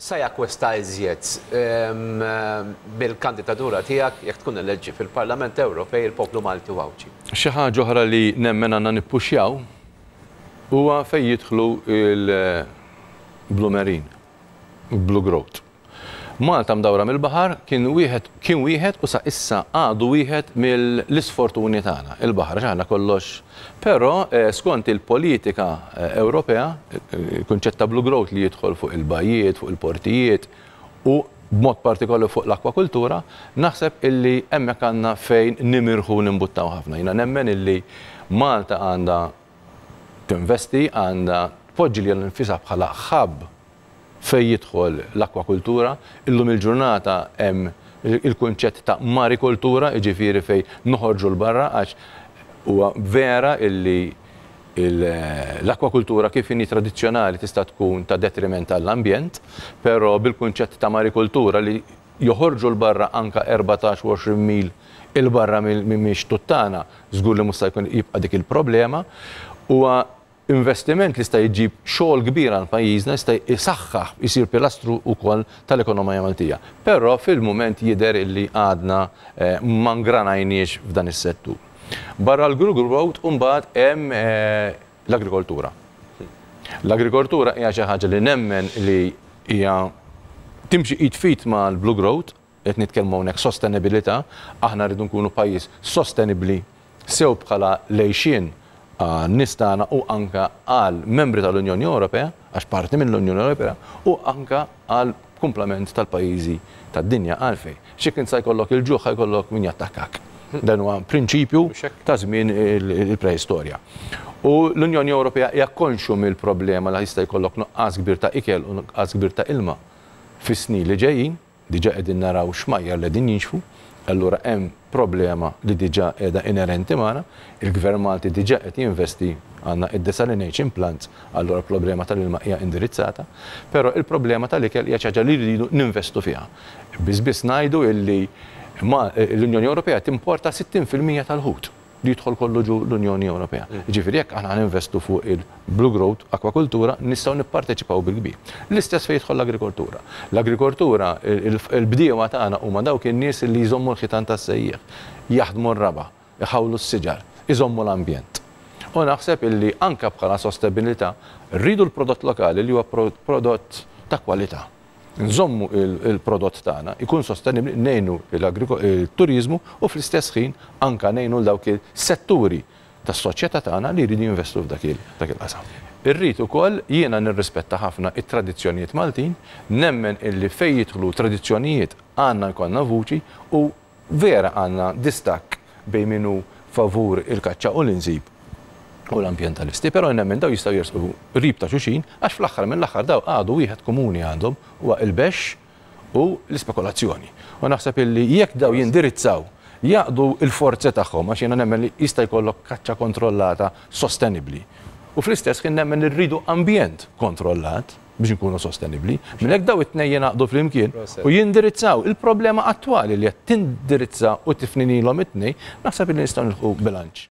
Sa jakkwista iżjed bil-kandidatura tiegħek jekk tkun eleġġi fil-Parlament Ewropej il-poplu Malti u Għawdxi? Xi ħaġa oħra li nemmen għandna nippuxjaw huwa fejn jidħlu l-Blue Marine, Blue Growth. Malta mdawra mill-baħar kien wieħed kien wieħed u sa issa għadu wieħed mill-isfortuni tagħna, il-baħar għax aħna kollox Però skont il-politika Ewropea, il-kunċett ta' blue growth li jidħol fuq il-bajjiet, fuq il-portijiet u b'mod partikolari fuq l-akwakultura, naħseb illi hemmhekk għandna fejn nimirħu u nimbuttaw ħafna. Jiena nemmen illi Malta għandha tinvesti, għandha tpoġġi lilha nfisha bħala hub fejn jidħol l-akwakultura. Illum il-ġurnata hemm il-kunċett ta' marikultura, jiġifieri fejn noħorġu 'l barra għax huwa vera illi l-akwakultura kif inhi tradizzjonali tista' tkun ta' detriment għall-ambjent, però bil-kunċett ta' marikultura li joħorġu 'l barra anke 14 u 20 mil 'il barra mix-xtut tagħna, żgur li mhux se jkun jibqa' dik il-problema. Huwa Investiment li jista' jġib xogħol kbir għal pajjiżna, jista' jsaħħaħ, jsir pilastru wkoll tal-ekonomija Maltija. Però fil-mument jidher illi għadna ma ngranajniex f'dan is-settur. Barra l-Google Growth imbagħad hemm l-agrikoltura. L-agrikoltura hija xi ħaġa li nemmen li hija timxi id f'id mal-Blue Growth, Qed nitkellmu hawnhekk sostenibilità, aħna rridu nkunu pajjiż sostenibbli sew bħala l-għixien għan-nies tagħna u anke għal membri tal-Unjoni Ewropea, għax parti mill-Unjoni Ewropea, u anke għal kumplament tal-pajjiżi tad-dinja. Għalfejn? Għax jekk int sa jkollok il-ġuħ ħa jkollok min jattakkak. Dan huwa prinċipju ta' żmien il-preistorja. U l-Unjoni Ewropea hija konxju mill-problema li jista' jkollok nuqqas kbir ta' ikel u nuqqas kbir ta' ilma fis-snin li ġejjin. Diġà qegħdin naraw xmajjar li qegħdin jinxfu, allura hemm problema li diġà qiegħda inerenti magħna. Il-Gvern Malti diġà qed jinvesti, għandna id-desalination plants, allura l-problema tal-ilma hija indirizzata. Però il-problema tal-ikel hija xi ħaġa li rridu ninvestu fiha. Biss biss ngħidu illi l-Unjoni Ewropea timporta 60% tal-ħut. li jidħol kollu ġo l-Unjoni Ewropea. Jiġifieri jekk aħna ħa ninvestu fuq il-Blue Growth, akwakultura, nistgħu nipparteċipaw bil-kbir. L-istess fejn jidħol l-agrikoltura. L-agrikoltura, il-bdiewa tagħna huma dawk in-nies li jżommu l-ħitan tas-sejjieħ, jaħdmu r-raba', iħawlu s-siġar, iżommu l-ambjent. U naħseb illi anke bħala sostenibilità rridu l-prodott lokali li huwa prodott ta' kwalità. nżommu l-prodott tagħna, ikun sostenibbli, ngħinu l-turiżmu u fl-istess ħin anke ngħinu 'l dawk is-setturi tas-soċjetà tagħna li jridu jinvestu f'dak il-qasam. Irrid ukoll jiena nirrispetta ħafna t-tradizzjonijiet Maltin, nemmen illi fejn jidħlu tradizzjonijiet għandna jkollna vuċi u Vera għandna distakk bejn min hu favur il-kaċċa u l-insib u l-ambjentalisti, però nemmen dawn jistgħu jersqu qrib ta' xulxin għax fl-aħħar mill-aħħar dawn għadu wieħed komuni għandhom huwa il-bexx u l-ispekulazzjoni. U naħseb illi jekk dawn jindirizzaw, jgħaqqdu l-forzi tagħhom għax jiena nemmen li jista' jkollok kaċċa kontrollata sostenibbli u fl-istess ħin nemmen li rridu ambjent kontrollat, biex inkunu sostenibbli. Minn hekk dawn it-tnejn jingħaqdu flimkien u jindirizzaw il-problema attwali li qed tindirizza u tifninilhom it-tnejn, naħseb li nistgħu nilħqu bilanċ.